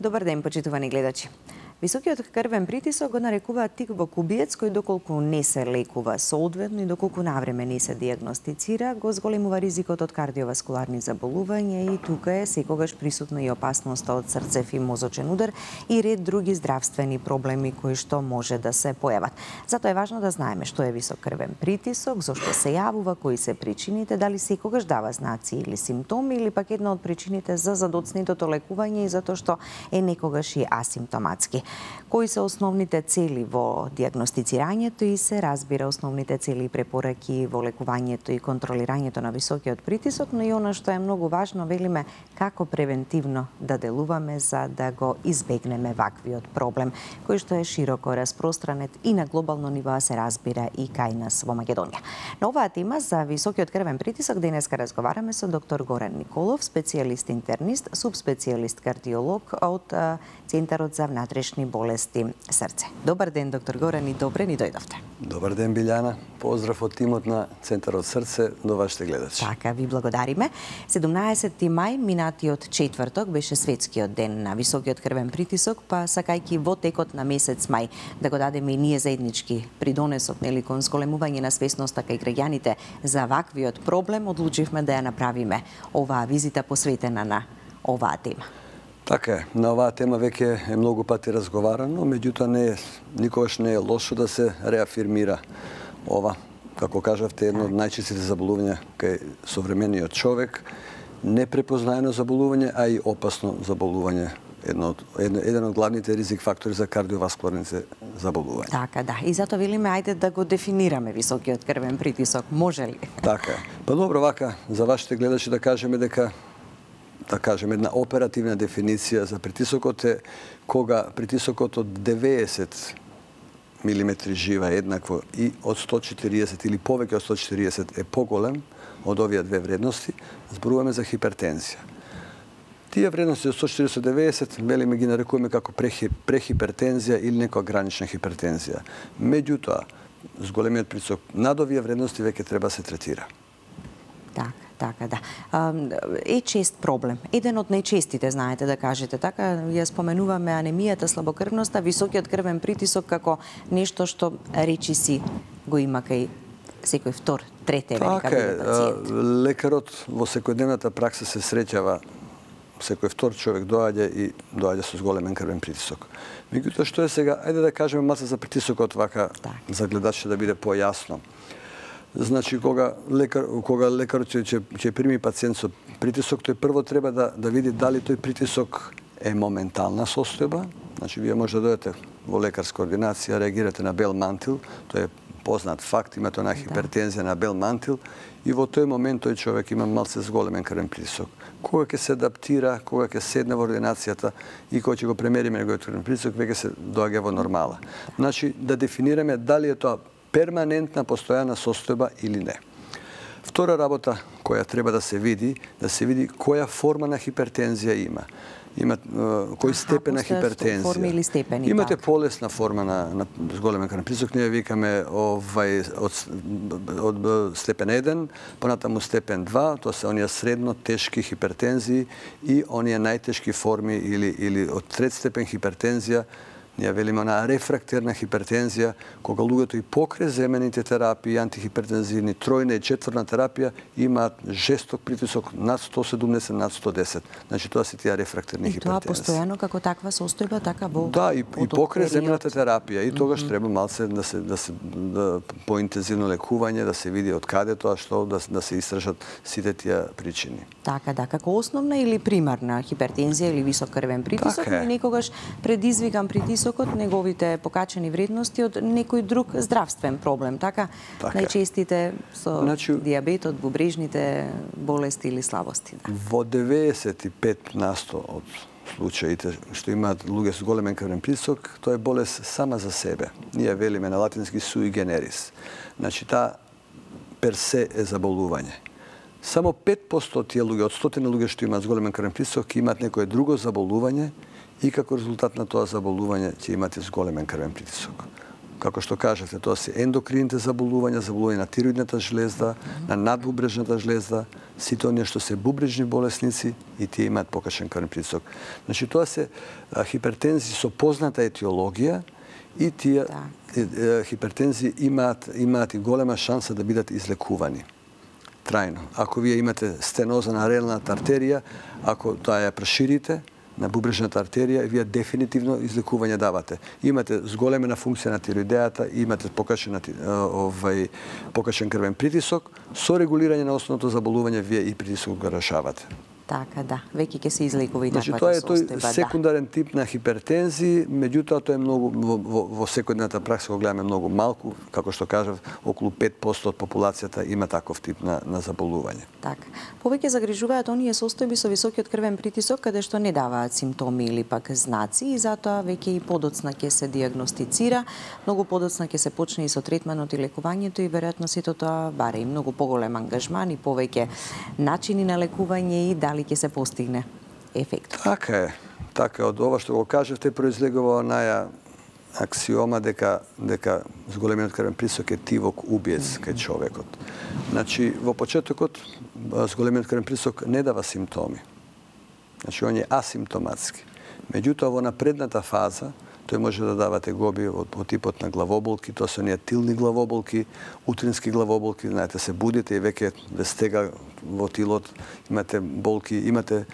Добар ден, почитувани гледачи. Високиот крвен притисок го нарекуваат тик во кубиец кој доколку не се лекува соодветно и доколку навреме не се диагностицира, го зголемува ризикот од кардиоваскуларни заболувања и тука е секогаш присутна и опасноста од срцев и мозочен удар и ред други здравствени проблеми кои што може да се појават. Затоа е важно да знаеме што е висок крвен притисок, зошто се јавува, кои се причините, дали секогаш дава знаци или симптоми или пак една од причините за задоцнетото лекување и затоа што е некогаш и асимптоматски. Кои се основните цели во диагностицирањето и се разбира основните цели и препораки во лекувањето и контролирањето на високиот притисок, но и она што е многу важно, велиме како превентивно да делуваме за да го избегнеме ваквиот проблем, кој што е широко распространет и на глобално ниво се разбира и кај нас во Македонија. На оваа тема за високиот крвен притисок денеска разговараме со доктор Горан Николов, специјалист интернист, субспецијалист кардиолог од Центарот за внатрешни болести срце. Добар ден, доктор Горан, и добре ни дојдовте. Добар ден, Билјана. Поздрав од тимот на Центарот срце до вашите гледачи. Така, ви благодариме. 17 мај, минатиот четврток, беше светскиот ден на високиот крвен притисок, па сакајќи во текот на месец мај да го дадеме и ние заеднички придонесот, нели, кон зголемување на свесноста кај граѓаните за ваквиот проблем, одлучивме да ја направиме оваа визита посветена на оваа тема. Така е, на оваа тема веќе е многу пати разговарано, меѓутоа никогаш не е лошо да се реафирмира ова. Како кажавте, едно од најчестите заболувања кај современиот човек, непрепознаено заболување, а и опасно заболување. Еден од главните ризик фактори за кардиоваскуларните заболувања. Така, да. И затоа велиме, ајде да го дефинираме високиот крвен притисок. Може ли? Така е. Па добро, вака, за вашите гледачи да кажеме дека една оперативна дефиниција за притисокот е кога притисокот од 90 милиметри жива еднакво и од 140 или повеќе од 140 е поголем од овие две вредности, зборуваме за хипертензија. Тие вредности од 140 до 90, велиме ги нарекуваме како прехипертензија или некоја гранична хипертензија. Меѓутоа, зголемиот притисок над овие вредности веќе треба се третира. Така, да. Е чест проблем. Еден од најчестите, знаете, да кажете така, ја споменуваме анемијата, слабокрвноста, високиот крвен притисок како нешто што речиси го има кај секој втор, трет пациент. Лекарот во секојдневната пракса се среќава, секој втор човек доаѓа со зголемен крвен притисок. Меѓутоа, што е сега? Ајде да кажеме малку за притисокот вака, за гледачите да биде појасно. Значи, кога лекарот ќе прими пациент со притисок, тој прво треба да види дали тој притисок е моментална состојба. Значи, вие може да дојдете во лекарска ординација, реагирате на бел мантил, тој е познат факт, имате она хипертензија на бел мантил и во тој момент тој човек има малце зголемен крвен притисок. Кога ќе се адаптира, кога ќе седне во ординацијата и кога ќе го премериме неговиот крвен притисок, веќе се доаѓа во нормала. Значи, да дефинираме дали е тоа перманентна, постојана состојба или не. Втора работа која треба да се види која форма на хипертензија има. Кој степен на хипертензија. Имате полесна форма на зголемен крвен притисок, ние викаме од степен 1, понатаму степен 2, тоа се оние средно тешки хипертензии и оние најтешки форми или од трет степен хипертензија. Ние велиме на рефрактерна хипертензија, кога луѓето и покрај земените терапии, антихипертензивни, тројна и четврна терапија имаат жесток притисок над 170, над 110. Значи тоа се тие рефрактерни хипертензии. И тоа постојано како таква состојба, така во... Да, и покрај земената терапија. И тогаш треба малце да се поинтензивно лекување, да се види од каде тоа, што да се истражат сите тие причини. Така, да, како основна или примарна хипертензија или висок крвен притисок, но некогаш предизвикан притисокот, неговите покачени вредности од некој друг здравствен проблем, така? Најчестите со диабетот, бубрежните болести или слабости. Во 95% од случаите што имаат луѓе со големен крвен притисок, тоа е болест сама за себе. Ние велиме на латински sui generis. Значи, таа персе е заболување. Само 5% од тие луѓе, од 100 луѓе што имаат зголемен крвен притисок, имаат некое друго заболување и како резултат на тоа заболување ќе имате зголемен крвен притисок. како што кажете, тоа се ендокрините заболувања, заболување на тироидната жлезда, на надбубрежната жлезда, сите оние што се бубрежни болесници и тие имаат покачен крвен притисок. Значи тоа се хипертензии со позната етиологија и тие хипертензии имаат и голема шанса да бидат излекувани трајно. Ако вие имате стеноза на артеријната артерија, ако тоа ја проширите на бубрежната артерија, вие дефинитивно излекување давате. Имате зголемена функција на тироидејата, имате покачен крвен притисок, со регулирање на основното заболување вие и притисок го решавате. Така, да. Веќе ќе се излекува и таквата тоа е состојба, тој секундарен тип на хипертензии, меѓутоа тоа е многу во секојдневната пракса го гледаме многу малку, како што кажав, околу 5% од популацијата има таков тип на заболување. Така. Повеќе загрижуваат оние состојби со високиот крвен притисок каде што не даваат симптоми или пак знаци и затоа веќе и подоцна ќе се дијагностицира, многу подоцна ќе се почне и со третманот и лекувањето и веројатно сето тоа баре и многу поголем ангажман и повеќе начини на лекување и дали ќе се постигне ефект. Така е. Од ова што го кажете произлегува онаја аксиома дека зголемениот крвен притисок е тивок убиец кај човекот. Значи, во почетокот зголемениот крвен притисок не дава симптоми. Значи, он е асимптоматски. Меѓутоа, во напредната фаза, тој може да дава тегоби од типот на главоболки, тоа се оние тилни главоболки, утрински главоболки, знаете, се будите и веќе ве стега во тилот, имате болки, имате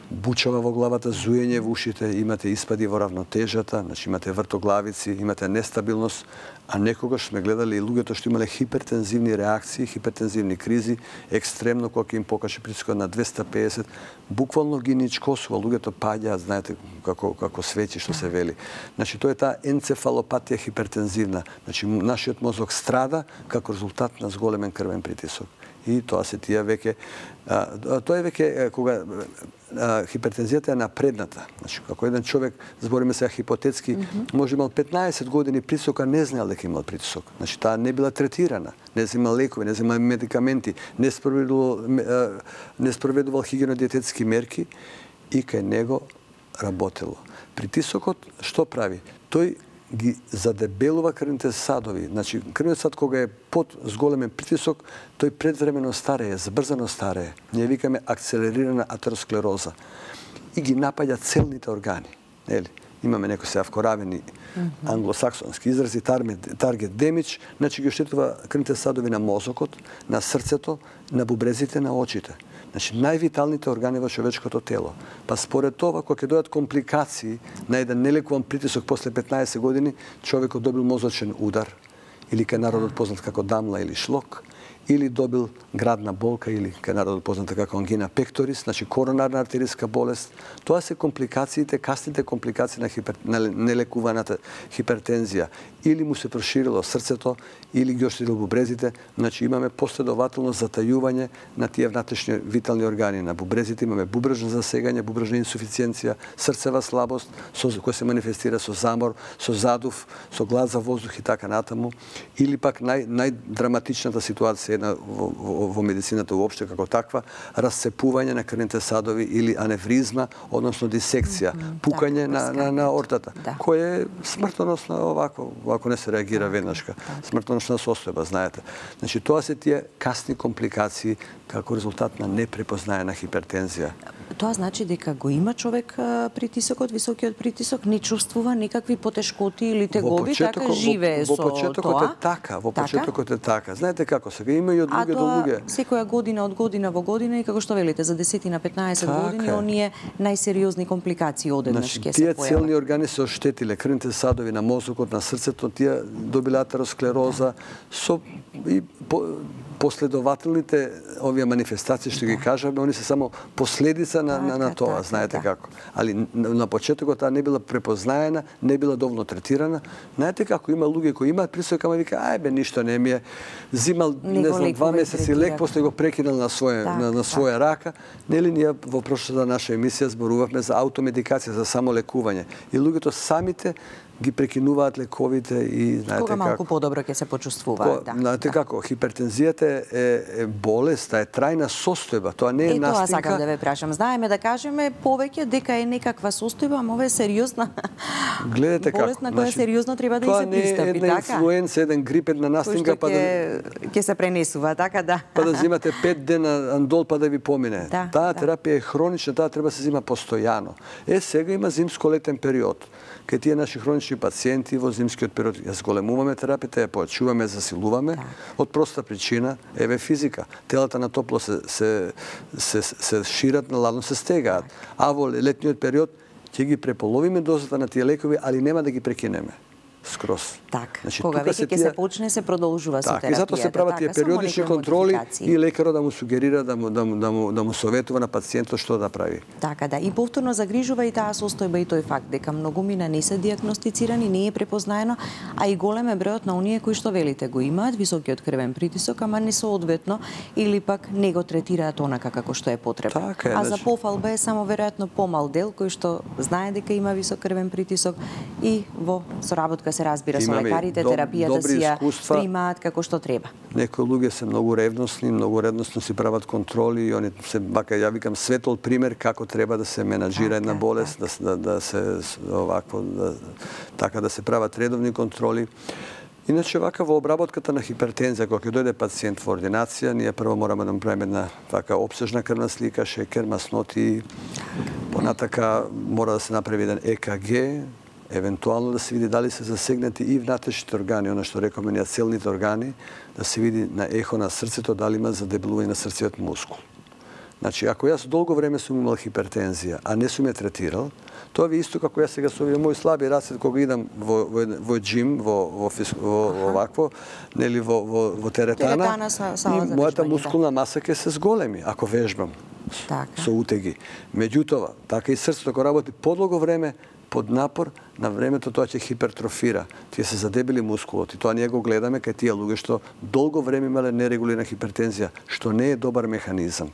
бучава во главата, зуење во ушите, имате испади во равнотежата, значи имате вртоглавици, имате нестабилност, а некогаш сме гледали и луѓето што имале хипертензивни реакции, хипертензивни кризи, екстремно кога им покачи притискот на 250, буквално ги ничкосува, луѓето паѓаат, знаете, како свеќи што се вели. Значи тоа е таа енцефалопатија хипертензивна. Значи нашиот мозок страда како резултат на зголемен крвен притисок. И тоа се тие веќе тоа е веќе кога хипертензијата е напредната. Значи, ако еден човек, збориме сега хипотетски, може имал 15 години притисок, а не знаел дека имал притисок. Значи, таа не била третирана, не земал лекови, не земал медикаменти, не спроведувал хигиено-диететски мерки и кај него работело. Притисокот што прави? Тој ги задебелува крвните садови. Значи, крвниот сад кога е под зголемен притисок, тој предвремено старее, забрзано старее. Ние викаме акцелерирана атеросклероза. И ги напаѓа целните органи. Нели? Имаме некои се вкоравени англосаксонски изрази, target damage, значи ги оштетува крвните садови на мозокот, на срцето, на бубрезите, на очите. Значи, највиталните органи во човечкото тело. Па според това, кога ќе дојдат компликации на еден нелекуван притисок после 15 години, човекот добил мозочен удар, или кај народот познат како дамла или шлок, или добил градна болка, или кај народот позната како ангина пекторис, значи коронарна артериска болест. Тоа се компликациите, касните компликации на нелекуваната хипертензија. Или му се проширило срцето, или ги оштетил бубрезите. Значи имаме последователно затајување на тие внатрешни витални органи. На бубрезите имаме бубрежно засегање, бубрежна инсуфициенција, срцева слабост, која се манифестира со замор, со задув, со глад за воздух и така натаму. Или пак најдраматичната ситуација во медицината уопште како таква, расцепување на крвните садови или аневризма, односно дисекција, пукање на ортата, која е смртоносна овако, ако не се реагира веднашка. Смртоносна состојба, знаете. Значи, тоа се тие касни компликации како резултат на непрепознаена хипертензија. Тоа значи дека го има човек притисокот, високиот притисок, не чувствува некакви потешкоти или тегоби, така живее со тоа? Во почетокот е така. Знаете како, сега има и од луѓе до луѓе. А тоа секоја година од година во година и како што велите, за 10 на 15 години, оние најсериозни компликации одеднаш ќе се појават. Тие целни органи се оштетиле, крвните садови на мозокот, на срцето, тие добиле атеросклероза, со последователните овие манифестации што ги кажаме, они се само последица на тоа, знаете како. Али на почетокот таа не била препознаена, не била доволно третирана. Знаете како има луѓе кои имаат притисок, ама вика, ајбе, ништо не ми е. Зимал, не знам, 2 месеци лек, после го прекинал на своја рака. Нели ние во прошлата наша емисија зборувавме за аутомедикација, за самолекување. И луѓето самите ги прекинуваат лековите и знаете кога малку подобро ќе се почувствуваат, да. Знаете како, хипертензијата е болест, е трајна состојба, тоа не е настинка. Тоа сакам да ве прашам. Знаеме да кажеме повеќе дека е некаква состојба, ама ова е сериозна. Гледате како, болест на која сериозно треба да и се пристапи, тоа не е една инфлуенца, еден грип, една настинка, па ќе се пренесува, така да. Па да земате 5 дена андол па да ви помине. Таа терапија е хронична, таа треба да се зема постојано. Сега има зимско-летен период. Кај тие наши хронични пациенти во зимскиот период ја зголемуваме терапијата, ја појачуваме, засилуваме од проста причина, еве физика. Телата на топло се шират, на ладно се стегаат. А во летниот период ќе ги преполовиме дозата на тие лекови, али нема да ги прекинеме скроз. Така, кога веќе ќе се почне, се продолжува со терапијата. И затоа се прават тие периодични контроли и лекарот да му сугерира, да му советува на пациентот што да прави. Така да, и повторно загрижува и таа состојба и тој факт дека многумина не се дијагностицирани, не е препознаено, а и голем е бројот на оние кои што велите го имаат високиот крвен притисок, ама не соодветно или пак не го третираат онака како што е потребно. А за пофалба е само веројатно помал дел кој што знае дека има висок крвен притисок и во соработка се разбира со лекарите, терапијата си ја примаат како што треба. Некои луѓе се многу ревностно си прават контроли и они се бака, ја викам, светол пример како треба да се менаџира една болест, да се овакво, така да се прават редовни контроли. Иначе вака во обработката на хипертензија, кога ќе дојде пациент во ординација, ние прво мораме да му правиме една вака опсежна крвна слика, шекер, масноти, понатака мора да се направи еден ЕКГ, евентуално да се види дали се засегнати и внатрешните органи, она што рековме ние целните органи, да се види на ехо на срцето дали има задебелување на срцевиот мускул. Значи, ако јас долго време сум имал хипертензија, а не сум ја третирал, тоа ви исто како јас сега со овие мои слаби раце кога идам во джим, во овакво, нели во теретана, и мојата мускулна маса ќе се зголеми ако вежбам со утеги. Меѓутоа, така и срцето кога работи подолго време, под напор, на времето тоа ќе хипертрофира. Тие се задебели мускулот и тоа ние го гледаме кај тие луѓе што долго време имале нерегулирана хипертензија, што не е добар механизам.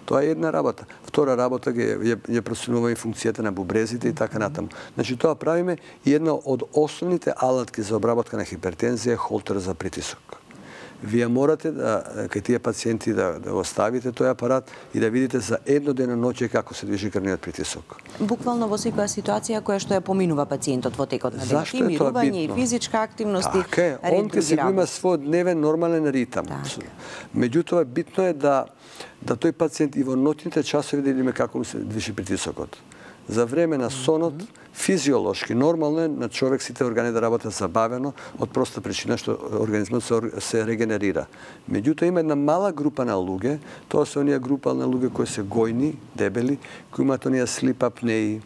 Тоа е една работа. Втора работа ја проценува и функцијата на бубрезите и така натаму. Значи тоа правиме и една од основните алатки за обработка на хипертензија е холтер за притисок. Вие морате кај тие пациенти да го ставите тој апарат и да видите за едно деноноќе како се движи крвниот притисок. Буквално во секоја ситуација која што ја поминува пациентот во текот на денот, и мирување, и физичка активност, и он ќе се има свој дневен нормален ритам. Меѓутоа битно е да тој пациент и во ноќните часови да видиме како му се движи притисокот. За време на сонот, физиолошки, нормално е на човек сите органи да работат забавено од проста причина што организмот се регенерира. Меѓутоа има една мала група на луѓе, тоа се оние група на луѓе кои се гојни, дебели, кои имаат оние слип апнеи,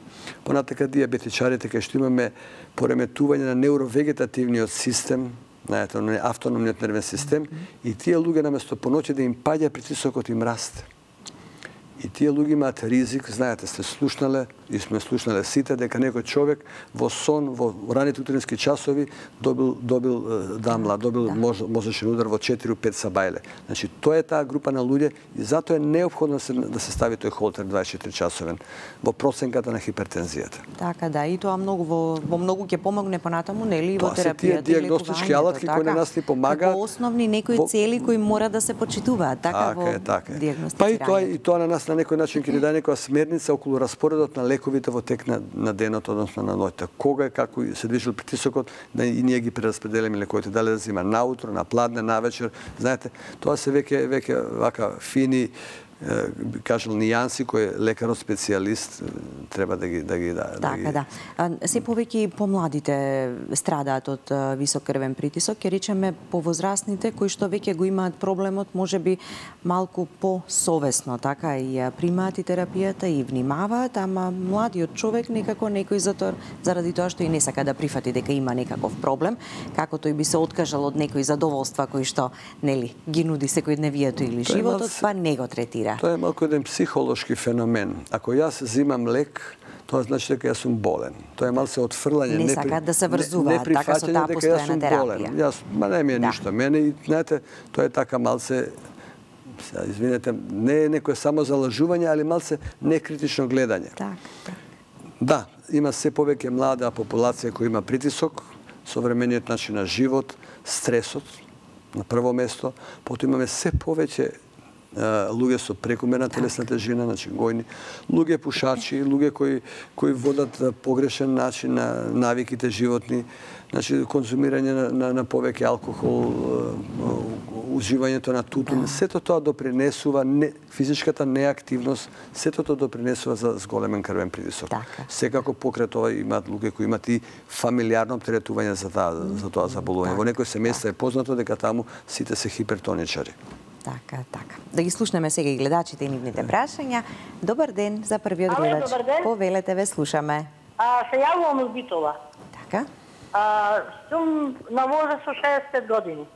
понатака диабетичарите кај што имаме пореметување на невровегетативниот систем, знаете, автономниот нервен систем, и тие луѓе наместо поноќе да им паѓа притисокот им расте. И тие луѓе имаат ризик, знаете, сте слушнале и сме слушнале сите дека некој човек во сон, во раните утрински часови добил дамла, добил мозочен удар во 4-5 сабајле. Значи, тоа е таа група на луѓе и затоа е неопходно да се стави тој холтер 24 часовен во проценката на хипертензијата. Така да, и тоа многу во многу ќе помогне понатаму, нели, во терапијата. Тоа се тие дијагностички алатки кои на нас ни помагаат. Како основни некои цели кои мора да се почитуваат, така во дијагностицирање. Па и тоа на нас на некој начин ќе ни даде некоја смерница околу распоредот на лековите во тек на денот, односно на ноќта. Кога и како се движил притисокот, да и ние ги прераспределиме лековите, дали да зима наутро, на пладне, навечер. Знаете, тоа се веќе вака фини кажал нијанси кои лекарот специјалист треба да ги Така да. Се повеќе и помладите страдаат од висок крвен притисок, ќе речеме повозрастните кои што веќе го имаат проблемот, можеби малку посовесно, така и примаат и терапијата и внимаваат, ама младиот човек некако некој заради тоа што и не сака да прифати дека има некаков проблем, како тој би се откажал од некои задоволства кои што нели ги нуди секојдневието или животот, па не го третира. Тоа е малку еден психолошки феномен. Ако јас зимам лек, тоа значи дека јас сум болен. Тоа е малце отфрлање, не сакаат да се врзуваат така со таа постојана терапија. Јас, не ми е ништо. Мене и знаете, тоа е така малце, извинете, не е некое само залажување, али малце некритично гледање. Така. Да, има се повеќе млада популација која има притисок, современиот начин на живот, стресот на прво место, потоа имаме се повеќе луѓе со прекумерна телесна тежина, значи гојни, луѓе пушачи, луѓе кои водат погрешен начин на навиките животни, значи конзумирање на повеќе алкохол, уживањето на тутун, сето тоа допринесува, физичката неактивност, сето тоа допринесува за зголемен крвен притисок. Секако покрај тоа имаат луѓе кои имаат и фамилиарно оптеретување за тоа заболување. Во некои семејства е познато дека таму сите се хипертоничари. Така. Да ги слушнеме сега и гледачите и нивните прашања. Добар ден за првиот гледач. Повелете, ве слушаме. Се јавувам од Битола. Така. Сум на возраст со 65 години.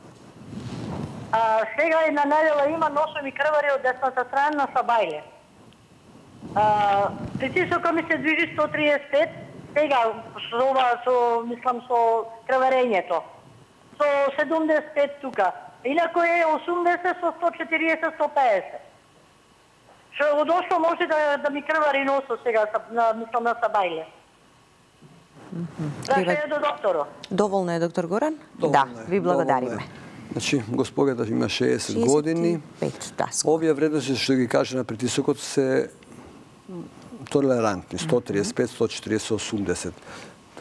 Сега една недела има носом и крвари од десната страна на Сабајле. Притисокот ми се движи 135, сега со крварењето. Со 75 тука. Инако е 80 со 140, 150. Што одошто може да ми крвари носо сега, мислам на Сабајле. Треба е до докторот. Доволно е, доктор Горан? Да, ви благодариме. Значи, господата има 60 години. Овие вредности што ги кажа на притисокот се толерантни. 135, 140, 80.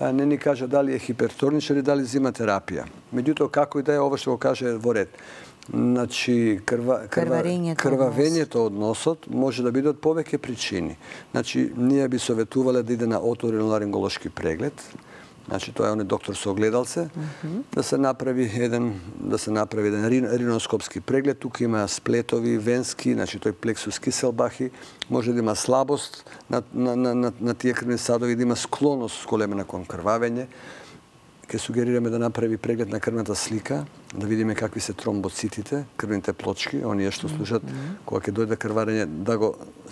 Таа не ни кажа дали е хипертоничар или дали зима терапија. Меѓутоа, како и да е, ова што го каже во ред. Значи, крвавењето од носот може да биде од повеќе причини. Значи, ние би советувале да иде на оториноларинголошки преглед. Значи, тоа е оној доктор со огледалце, да се направи еден риноскопски преглед. Тука има сплетови, венски, значи тој плексус киселбахи, може да има слабост на тие крвни садови, да има склоност големена кон крвавење. Ке сугерираме да направи преглед на крвната слика, да видиме какви се тромбоцитите, крвните плочки, оние што служат кога ќе дојде крварење,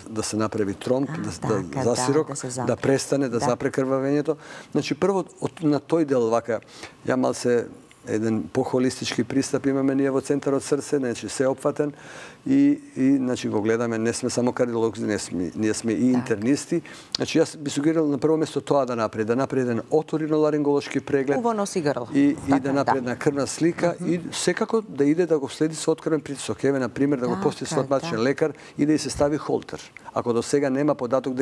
да се направи тромб, да засирок, да престане, да запре крвавењето. Значи, прво на тој дел, вака, ја малце еден похолистички пристап имаме ние во Центарот Срце, значи се опфатен и значи го гледаме, не сме само кардиолози, ние сме и интернисти. Значи јас би сугерирал на прво место тоа да направи еден оториноларинголошки преглед и да направи една крвна слика и секако да иде да го следи со открвен притисок. Еве на пример да го посети стоматичен лекар и да и се стави холтер. Ако до сега нема податок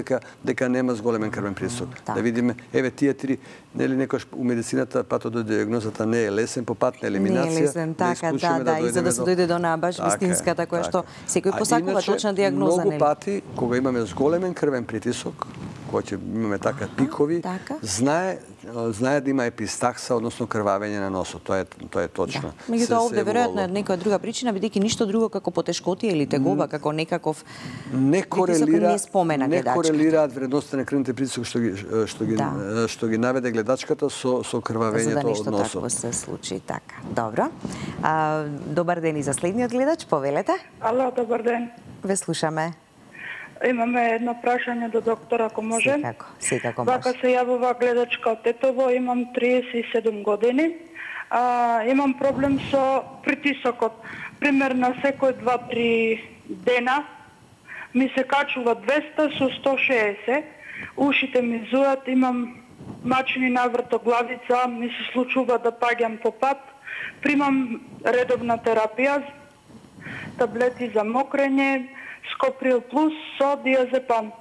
дека нема зголемен крвен притисок. Да видиме, еве тие три, нели некош у медицината патодиагнозата не е лесен по пат на елиминација. Не е лесен, така, да, и за да се дојде до онаа баш вистинската која што секој посакува точна диагноза. Многу пати, кога имаме зголемен крвен притисок, кога ќе имаме така пикови, знае да има епистакса, односно крвавење на носот. Тоа е точно. Меѓутоа овде веројатно е некоја друга причина, бидејќи ништо друго како потешкотија или тегоба, како некаков не корелираат вредността на крвните притисок што ги наведе гледачката со крвавењето од носот. За да нешто такво се случи, така. Добро. Добар ден и за следниот гледач, повелете. Ало, добар ден. Ве слушаме. Имаме едно прашање до доктор, ако може. Секако може. Вака се јавува гледачка од Тетово, имам 37 години. Имам проблем со притисокот. Пример на секој 2-3 дена ми се качува 200 со 160. Ушите ми зујат, имам мачени навртоглавица, ми се случува да паѓам по пат. Примам редовна терапија, таблети за мокрење, Скоприл плюс со диазепам.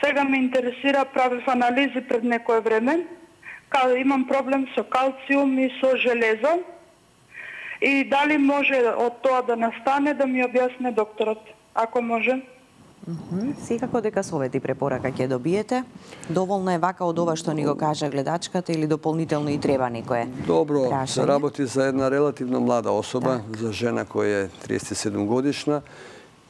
Сега ме интересира, правев анализи пред некое време. Имам проблем со калциум и со железо. И дали може од тоа да настане, да ми објасне докторот, ако може. Секако дека совет и препорака ќе добиете. Доволно е вака од ова што ни го кажа гледачката или дополнително и треба некое прашање? Добро, се работи за една релативно млада особа, за жена која е 37 годишна,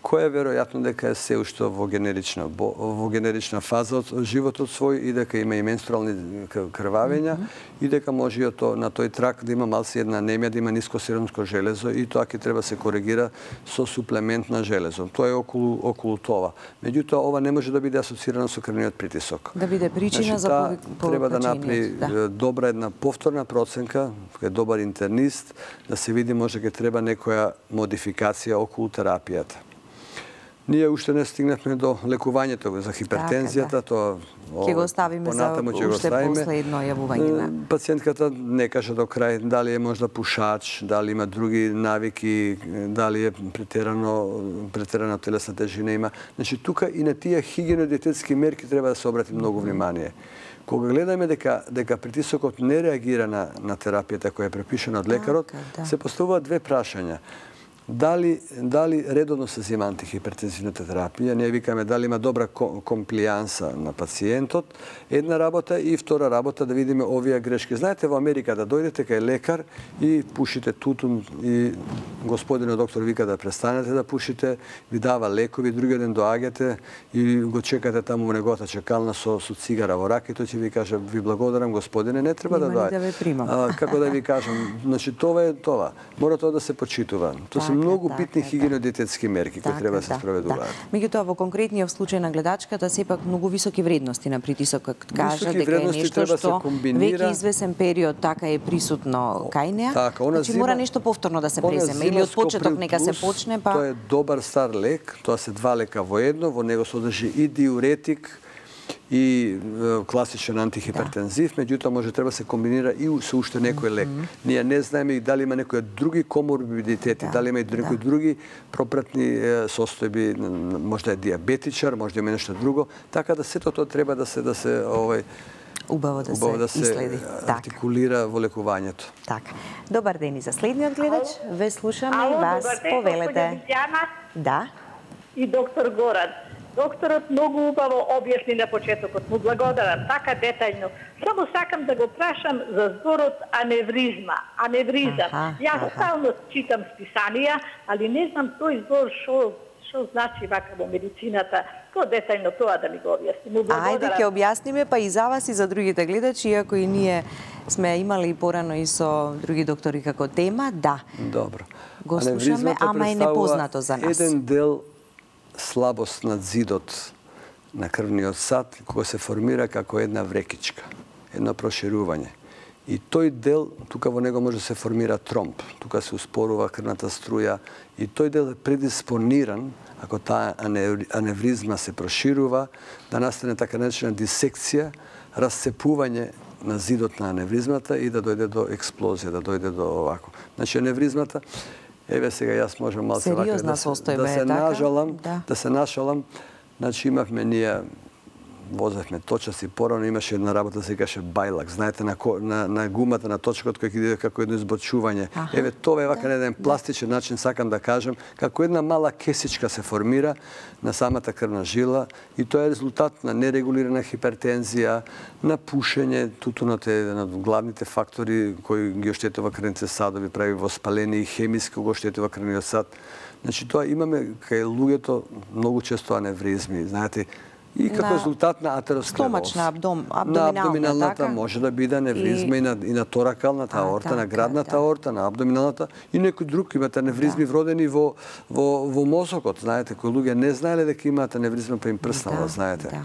која веројатно дека е се уште во генерична фаза од животот свој и дека има и менструални крвавења и дека може на тој трак да има малце една анемија, да има ниско серумско железо и тоа ќе треба се коригира со суплемент на железо. Тоа е околу тоа. Меѓутоа, ова не може да биде асоцирано со крвниот притисок. Да биде причина за повикачењето. Треба да направи добра една повторна проценка, кај добар интернист, да се види може ќе треба некоја модификација околу терапијата. Ние уште не стигнахме до лекувањето за хипертензијата, тоа ќе го оставиме за уште последно јавување. Пациентката не каже до крај дали е можда пушач, дали има други навики, дали е претерана телесна тежина има. Значи тука и на тие хигиено-диететски мерки треба да се обрати многу внимание. Кога гледаме дека притисокот не реагира на терапијата која е препишана од лекарот, се поставуваат две прашања. Дали редовно се зема антихипертензивната терапија, ние викаме дали има добра комплијанса на пациентот, една работа, и втора работа да видиме овие грешки. Знаете, во Америка да дојдете кај лекар и пушите тутун и господинот доктор вика да престанете да пушите, ви дава лекови, другиот ден доаѓате и го чекате таму во неговата чекална со цигара во рака и тој ќе ви каже ви благодарам господине, не треба да доаѓате. Како да ви кажам, значи тоа е тоа. Мора тоа да се почитува. Многу битни хигиено-диететски мерки кои треба да се спроведуваат. Меѓутоа, во конкретниот случај на гледачката, сепак многу високи вредности на притисокот. Кажа дека е нешто што веќе извесен период така е присутно кај неа. Значи мора нешто повторно да се преземе или од почеток нека се почне, па тоа е добар стар лек, тоа се два лека во едно, во него содржи и диуретик и класичен антихипертензив, меѓутоа може треба се комбинира и со уште некој лек. Ние не знаеме дали има некои други коморбидитети, дали има и некои други пропратни состојби, може да е диабетичар, може да има нешто друго, така да сето тоа треба да се убаво да се иследи, артикулира во лекувањето. Така. Добар ден и за следниот гледач. Ве слушаме и вас, повелете. Да. И доктор Горан. Докторот многу убаво објасни на почетокот. Му благодарам, така детајно. Само сакам да го прашам за зборот аневризма. Јас стално читам списанија, али не знам тој збор што значи вака во медицината. По-детајно тоа да ми го објасни. Му благодарам. Ајде ќе објасниме, па и за вас и за другите гледачи, иако и ние сме имали порано и со други доктори како тема, да. Добро. Го слушаме, ама е непознато за нас. Еден дел слабост на зидот на крвниот сад, кога се формира како една врекичка, едно проширување. И тој дел, тука во него може да се формира тромб, тука се успорува крвната струја, и тој дел е предиспониран, ако таа аневризма се проширува, да настане така наречена дисекција, расцепување на зидот на аневризмата и да дојде до експлозија, да дојде до овако. Значи аневризмата, еве сега јас можам малку да се нашалам. Значи имавме ние возевме точаци порано, имаше една работа се каже бајлак, знаете на гумата на точкот кој иде како едно избочување. Еве тоа е вака на еден пластичен начин сакам да кажам, како една мала кесичка се формира на самата крвна жила и тоа е резултат на нерегулирана хипертензија, на пушење, тутунот е еден од главните фактори кои ги оштетува крвните садови, прави воспаление и хемиски го оштетува крвниот сад. Значи тоа имаме кај луѓето многу често аневризми, знаете, и како резултат на атеросклероз. Стомачна, на абдоминалната може да биде аневризма и на торакалната аорта, на градната аорта, на абдоминалната и некој друг имате аневризми вродени во мозокот. Знаете, кои луѓе не знаеле дека имаат аневризма па им прснала, знаете,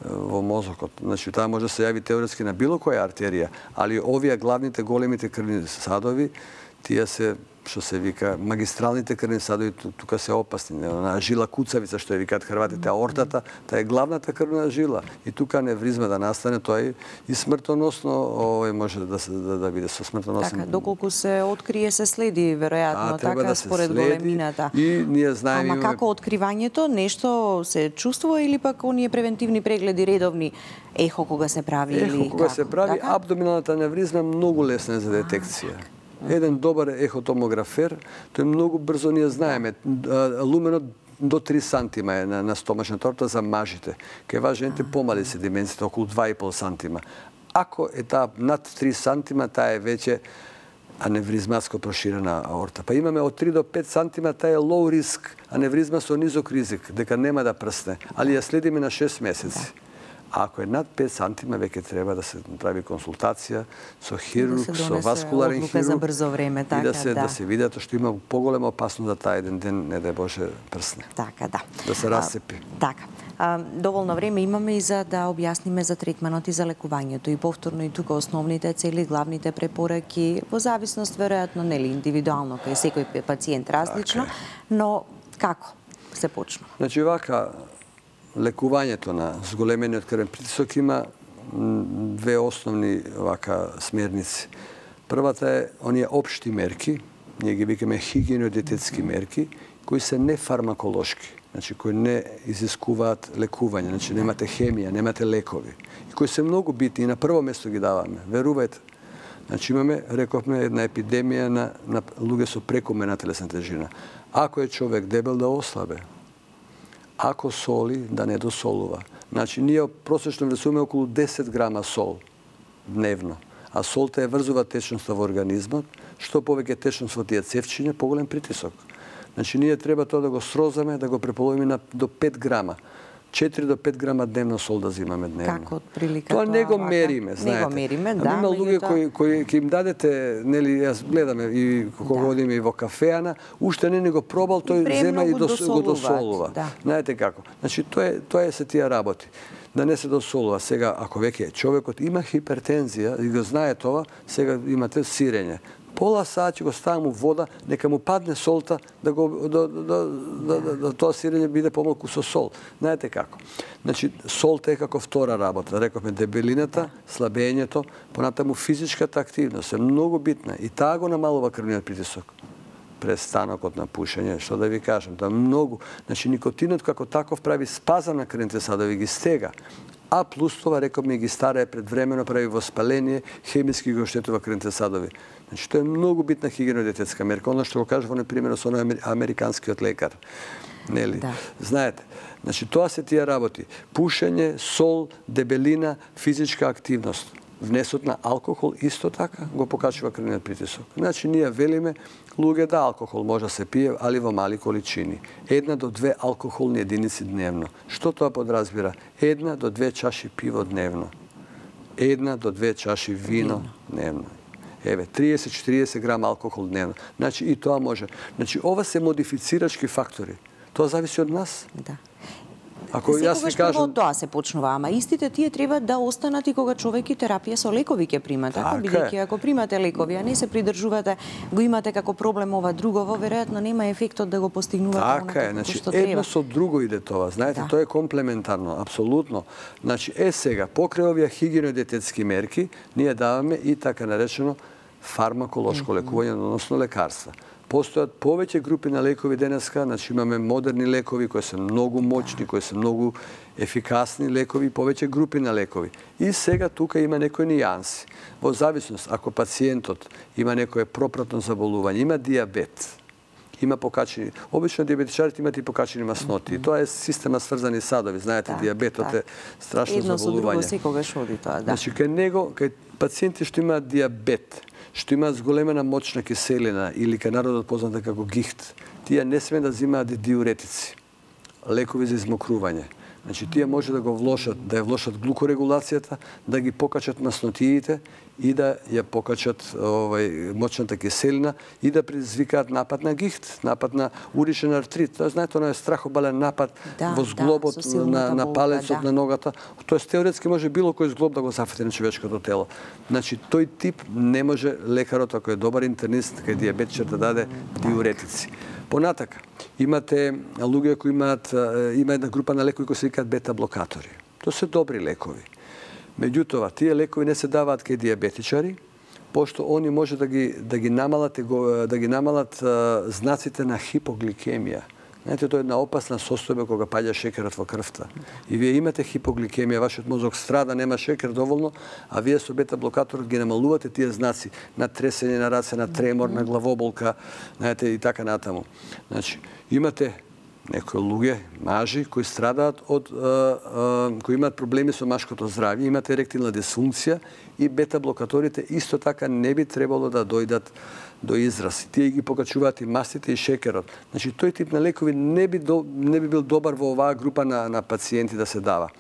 во мозокот. Значи, таа може да се јави теоретски на било која артерија, али овие главните големите крвни садови, тие се што се вика магистралните крвни садови, тука се опасни. На жила куцавица, што ја викаат хрватите, аортата, таа е главната крвна жила. И тука аневризма да настане, тоа е и смртоносно, може да биде со смртоносен. Така, доколку се открие, се следи, веројатно, така, според големината. И ние знаеме... Ама како откривањето, нешто се чувствува или пак оние превентивни прегледи редовни, ехо кога се прави или како? Кога се прави, абдоминалната аневризма е многу лесна за детекција. Еден добар ехотомографер, тој многу брзо ние знаеме. Луменот до 3 сантима е на стомачната аорта за мажите. Кај вас жените помали се димензите, околу 2,5 сантима. Ако е таа над 3 сантима, таа е веќе аневризматско проширена аорта. Па имаме од 3 до 5 сантима, таа е low risk, аневризма со низок ризик, дека нема да прсне, али ја следиме на 6 месеци. Ако е над 5 сантима, веќе треба да се прави консултација со хирург, со васкуларен хирург и да се видат што има поголема опасност да таа еден ден, не дај Боже, прсне. Така, да. Да се расцепи. Така. Доволно време имаме и за да објасниме за третманот и за лекувањето. И повторно и тука основните цели, главните препораки, во зависност, веројатно, нели, индивидуално, кај секој пациент различно, но како? се почнува? Значи, вака, лекувањето на зголемениот крвен притисок има две основни вака смерници. Првата е оние општи мерки, ние ги викаме хигиено-диететски мерки, кои се нефармаколошки, значи кои не изискуваат лекување, значи немате хемија, немате лекови, и кои се многу битни и на прво место ги даваме. Верувајте. Значи имаме, рековме, една епидемија на луѓе со прекомерна телесна тежина. Ако е човек дебел, да ослабе. Ако соли, да не досолува. Значи, ние просечно внесуваме околу 10 грама сол дневно. А солта е врзува течноста во организмот. Што повеќе течност во тие цевчиња, поголем притисок. Значи, ние треба тоа да го срозаме, да го преполовиме до 5 грама. 4 до 5 грама дневно сол да взимаме дневно. Како отприлика тоа не го мериме, знаете. Не го мериме, да. Има луѓе кои ќе им дадете, нели, јас гледаме и кога одиме и во кафеана, уште не го пробал, тој зема и го досолува. Да. Знаете како? Значи, тоа е се тие работи. Да не се досолува. Сега, ако веќе човекот има хипертензија и го знае тоа, сега имате сирење. Пола сат ќе го ставам у вода, нека му падне солта, да тоа сирење биде помалку со сол. Знаете како? Значи, солта е како втора работа. Рековме, дебелината, слабењето, понатаму физичката активност е многу битна и таа го намалува крвниот притисок. Престанокот на пушење, што да ви кажам, тоа многу. Значи, никотинот како таков прави спазам на крвните садови, ги стега. А плюс това, рековме, ги старае предвремено, прави воспаление, хемиски го оштетува крвните садови. Значи, тоа е многу битна хигиено-диететска мерка. Оно што го кажува, например, со американскиот лекар. Нели? Да. Знаете, значи, тоа се тие работи. Пушење, сол, дебелина, физичка активност. Внесот на алкохол исто така го покачува крвниот притисок. Значи, ние велиме, луѓе, да, алкохол може да се пие, али во мали количини. 1 до 2 алкохолни единици дневно. Што тоа подразбира? 1 до 2 чаши пиво дневно. 1 до 2 чаши вино дневно. Еве, 30-40 грама алкохол дневно. Значи, и тоа може. Значи, ова се модифицирачки фактори. Тоа зависи од нас. Да. Ако јас ви кажам, тоа се почнува, ама истите тие треба да останат и кога човек и терапија со лекови ќе прима, така бидејќи ако примате лекови, а не се придржувате, го имате како проблем ова другово, веројатно нема ефектот да го постигнувате онака како значи, што треба. Едно со друго иде тоа, знаете, тоа е комплементарно, апсолутно. Значи, сега, покрај овие хигиено-диететски мерки, ние даваме и така наречено фармаколошко лекување, односно лекарства. Постојат повеќе групи на лекови денеска, значи имаме модерни лекови кои се многу моćни, кои се многу ефикасни лекови, повеќе групи на лекови. И сега тука има некои нијанси. Во зависност, ако пациентот има некое пропратно заболување, има диабет, има покачени, обично диабетичарите имат и покачени масноти. Тоа е система сврзани садови, знаете, диабетот е страшно заболување. Едно со друго секогаш оди тоа, да. Значи, кај пациенти што имаат диабет, што имаат зголемена моćна киселина или кај народот позната како гихт, тие не сме да взимаат диуретици, лекови за измокрување. Значи, тие може да го влошат, да ја влошат глукорегулацијата, да ги покачат маснотиите и да ја покачат моćната киселина и да предизвикаат напад на гихт, напад на уричен артрит. Тоа знаете, оној страхобален напад во зглобот на палецот на ногата. Тоест, теоретски може било кој зглоб да го зафати на човечкото тело. Значи, тој тип не може лекарот, ако е добар интернист, кај диабетичар да даде диуретици. Понатака, имате луѓе кои има една група на лекови кои се викаат бета-блокатори. Тоа се добри лекови. Меѓутоа, тие лекови не се даваат кај диабетичари, пошто они може да ги намалат знаците на хипогликемија. Знаете, тоа е една опасна состојба кога паѓа шекерот во крвта. И вие имате хипогликемија, вашиот мозок страда, нема шекер доволно, а вие со бета-блокаторот ги намалувате тие знаци на тресење на раце, на тремор, на главоболка, знаете, и така натаму. Значи, имате некои луѓе, мажи, кои страдаат кои имаат проблеми со машкото здравје, имате еректилна дисфункција и бета-блокаторите исто така не би требало да дојдат до израз. Тие ги покачуваат и мастите и шекерот. Значи, тој тип на лекови не би бил добар во оваа група на пациенти да се дава.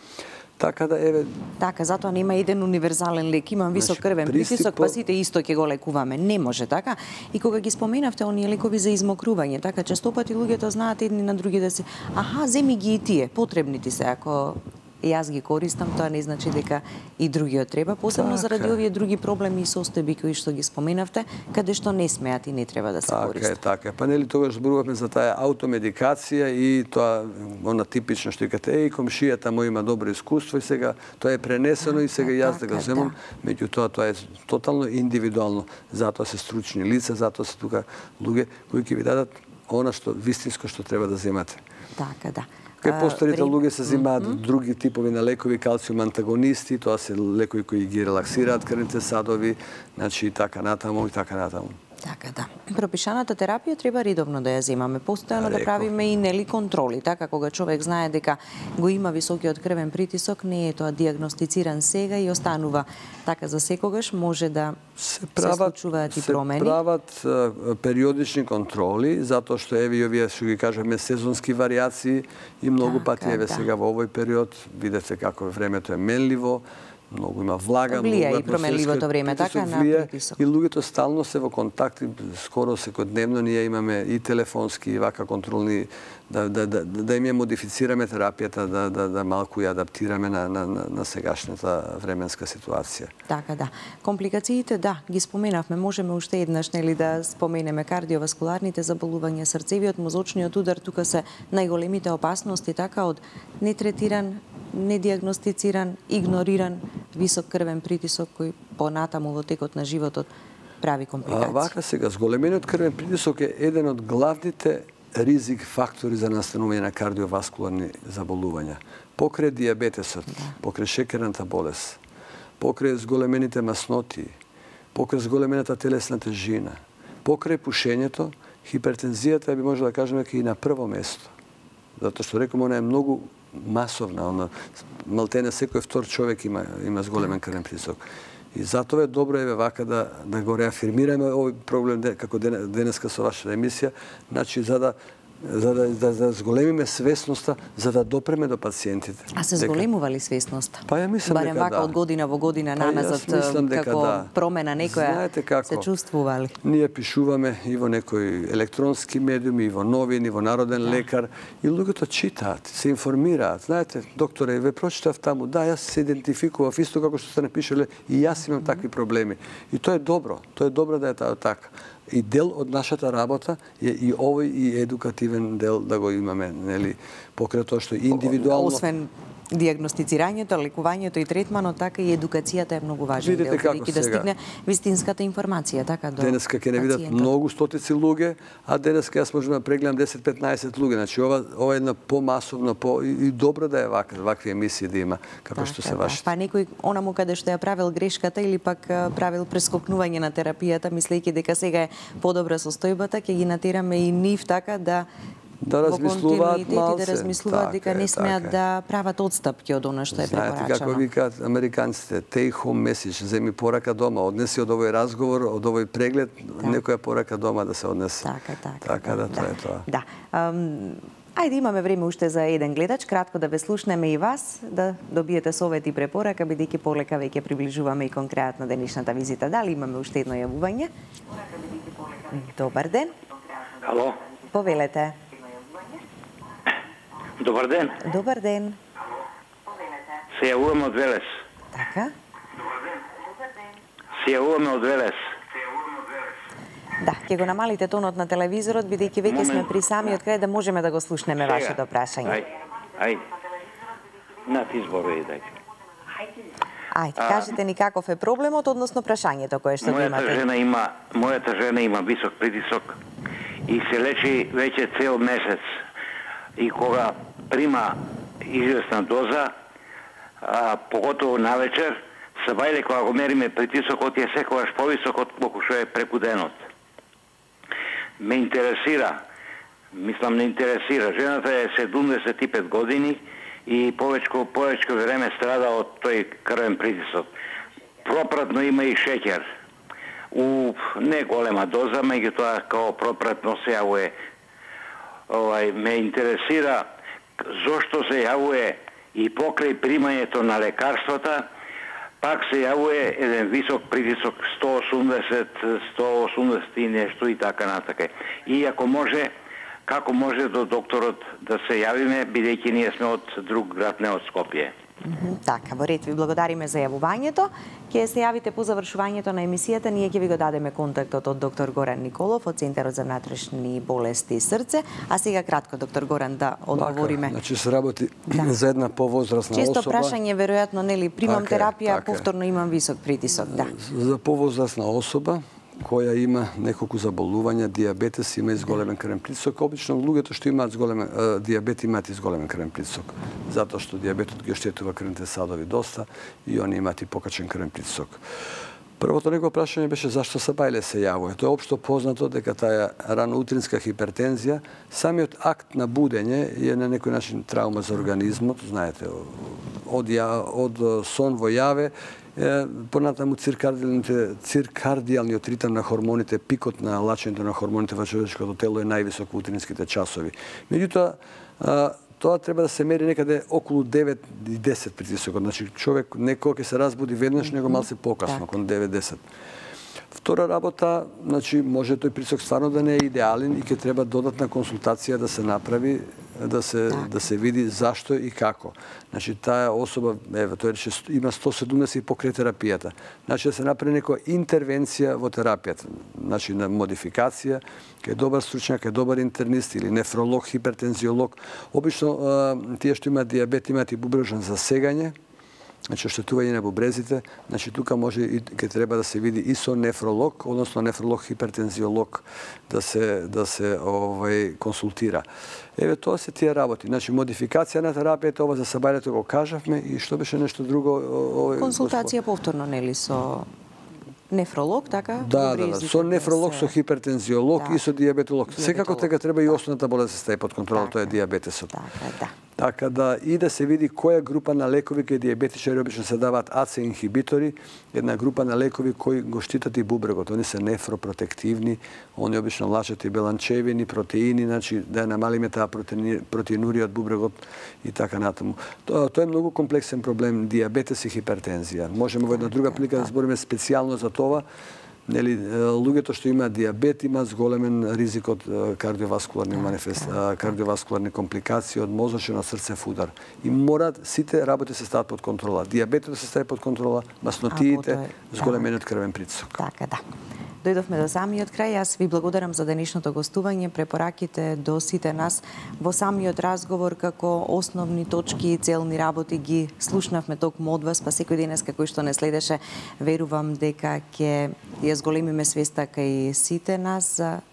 Така да, еве... Така, затоа нема еден универзален лек. Имам висок крвен притисок, па сите исто ќе го лекуваме. Не може така. И кога ги споменавте оние лекови за измокрување, така, често пати луѓето знаат едни на други да се... Аха, земи ги и тие, потребни ти се, ако јас ги користам, тоа не значи дека и другиот треба, посебно заради овие други проблеми и состојби кои што ги споменавте, каде што не смеат и не треба да се користат. Така е. Па нели тогаш зборувавме за таа аутомедикација и тоа она типично што кажете, комшијата му има добро искуство и сега тоа е пренесено и сега јас да го земам, меѓутоа тоа е тотално индивидуално. Затоа се стручни лица, затоа се тука луѓе кои ќе ви дадат она што вистинско што треба да земате. Така, да. Кај постарите луѓе се земаат други типови на лекови, калциум антагонисти, тоа се лекови кои ги релаксираат крвните садови, значи и така натаму, и така натаму. Така, да. Пропишаната терапија треба редовно да ја земаме, постојано да правиме и нели контроли, така кога човек знае дека го има високиот крвен притисок, не е тоа дијагностициран сега и останува така за секогаш, може да се случуваат и промени. Се прават периодични контроли, затоа што еве овие што ги кажеме сезонски варијации и многу пати еве сега во овој период видете како времето е менливо, многу има влага, влија и променливото време, така на притисок. И луѓето стално се во контакти, скоро секојдневно ние имаме и телефонски и вака контролни да им ја модифицираме терапијата, да малку ја адаптираме на сегашната временска ситуација. Така, да. Компликациите, да, ги споменавме, можеме уште еднаш нели да споменеме кардиоваскуларните заболувања, срцевиот, мозочниот удар, тука се најголемите опасности, така од нетретиран, недијагностициран, игнориран висок крвен притисок кој понатаму во текот на животот прави компликации. Вака сега, зголемениот крвен притисок е еден од главните ризик фактори за настанување на кардиоваскуларни заболувања. Покрај дијабетесот, покрај шекерната болест, покрај зголемените масноти, покрај зголемената телесна тежина, покрај пушењето, хипертензијата би може да кажеме и на прво место. Затоа што реком, она е многу масовна, малтене секој втор човек има зголемен крвен притисок. И затоа е добро еве вака да го реафирмираме овој проблем како денеска со вашата емисија, значи за да зголемиме свесноста, за да допреме до пациентите. А се зголемува ли свесноста? Па ја мислам дека да. Барем вака од година во година намазат како промена некоја се чувствува ли? Ние пишуваме и во некои електронски медиуми, и во новини, и во Народен лекар, и луѓето читаат, се информираат. Знаете, докторе, ве прочитав таму, да, јас се идентификував исто како што сте напишале, и јас имам такви проблеми. И тоа е добро да е така. И дел од нашата работа е и овој и едукативен дел да го имаме, нели, покрај тоа што индивидуално. Освен дијагностицирањето, лекувањето и третманот, така и едукацијата е многу важен дел, бидејќи да стигне вистинската информација, така до денеска ќе не видат многу стотици луѓе, а денеска јас можам да прегледам 10-15 луѓе. Значи ова е една помасовна, и добро да е вакви емисии да има, како што се вашите. Па некој онаму каде што ја правил грешката или пак правил прескокнување на терапијата, мислејќи дека сега е подобра состојбата, ќе ги натераме и нив така да размислуваат малце. Да размислуваат дека не смеат да прават одстапки од она што е препорачано. Знаете како викаат американците, take home message, земи порака дома, однеси од овој разговор, од овој преглед, некоја порака дома да се однесе. Така да, тоа е тоа. Да. Ајде, имаме време уште за еден гледач, кратко да ве слушнеме и вас, да добиете совет и препорака, бидејќи полека веќе приближуваме и кон крајот на денешната визита. Дали имаме уште едно јавување? Добар ден. Ало. Повелете. Добар ден. Добар ден. Се јавуваме од Велес. Така. Се јавуваме од Велес. Да, ќе го намалите тонот на телевизорот, бидејќи веќе сме при самиот крај да можеме да го слушнеме вашето прашање. Ајде. На ти зборови, дај. Ајде, кажете ни каков е проблемот, односно прашањето кое што го имате. Мојата жена има висок притисок и се лечи веќе цел месец. И кога прима известна доза, поготово навечер, сабајле кога го мериме притисокот е секогаш повисок од колку што е преку денот. Ме интересира, мислам не интересира, жената е 75 години и повеќе време страда од тој крвен притисок. Пропратно има и шеќер. У не голема доза, меѓутоа као пропратно се јавува. Ме интересира зошто се јавува и покрај примањето на лекарствата, пак се јавува еден висок притисок 180 и нешто и така натака. И ако може, како може до докторот да се јавиме, бидејќи ние сме од друг град, не од Скопје. Така, во ред, ви благодариме за јавувањето. Ќе се јавите по завршувањето на емисијата, ние ќе ви го дадеме контактот од доктор Горан Николов од Центарот за внатрешни болести и срце. А сега кратко, доктор Горан, да одговориме. Значи се работи за една повозрасна Често особа. прашање, веројатно, нели, примам терапија, повторно имам висок притисок, да. За повозрасна особа која има неколку заболувања, диабетес, има изголемен крвен притисок. Обично луѓето што имаат диабет имаат изголемен крвен притисок, затоа што диабетот ги оштетува крвните садови доста и они имаат и покачен крвен притисок. Првото негово прашање беше зашто се бајле се јавува. Тоа е општо познато дека таа раноутринска хипертензија, самиот акт на будење е на некој начин траума за организмот, знаете, од сон во јаве, понатаму циркардијалниот ритам на хормоните, пикот на лачењето на хормоните во човечкото тело е највисок во утринските часови. Меѓутоа, тоа треба да се мери некаде околу 9 и 10 притисокот. Значи, човек некој ќе се разбуди веднаш, него малце покасно, околу 9-10. Втора работа, значи, може тој притисок стварно да не е идеален и ќе треба додатна консултација да се направи, да се види зашто и како. Значи, таа особа, тој рече, има 170 покрај терапијата. Значи, да се направи некоја интервенција во терапијата. Значи, на модификација, кај добар стручњак, кај добар интернист или нефролог, хипертензиолог. Обично, тие што имаат диабет имаат и бубрежно засегање, значи оштетување на бубрезите, значи тука може и ќе треба да се види и со нефролог, односно нефролог хипертензиолог да се консултира. Тоа се тие работи. Значи модификација на терапијата, ова за сабајлето го кажавме и што беше нешто друго? Консултација повторно, нели, со нефролог, така? Да, со нефролог, со хипертензиолог и со диабетолог. Секако дека треба и основната болест да се стаи под контрола, тоа е диабетесот. Така да и да се види која група на лекови кај диабетичари обично се даваат АЦ инхибитори, една група на лекови кои го штитат и бубрегот. Они се нефропротективни, они обично лачат и беланчевини, протеини, значи да ја намалиме таа протеинурија од бубрегот и така натаму. Тоа е многу комплексен проблем, диабетес и хипертензија. Можеме во една друга прилика да збориме специјално за тоа. Нели, луѓето што имаат диабет имаат зголемен ризик од кардиоваскуларни компликации, од мозочен, од срцев удар. И мораат сите работи се стават под контрола. Диабетот се стави под контрола, маснотиите, зголемениот крвен притисок. Така, да. Дојдовме до самиот крај. Јас ви благодарам за денешното гостување, препораките до сите нас во самиот разговор како основни точки и целни работи ги слушнавме токму од вас, па секој денес кој што не следеше, верувам дека ќе ја зголемиме свеста кај сите нас за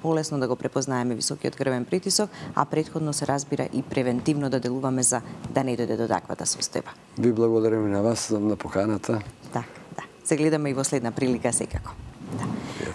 полесно да го препознаеме високиот крвен притисок, а претходно се разбира и превентивно да делуваме за да не дојде до таквата состојба. Ви благодарам и на вас на поканата. Да. Се гледаме и во следна прилика секако.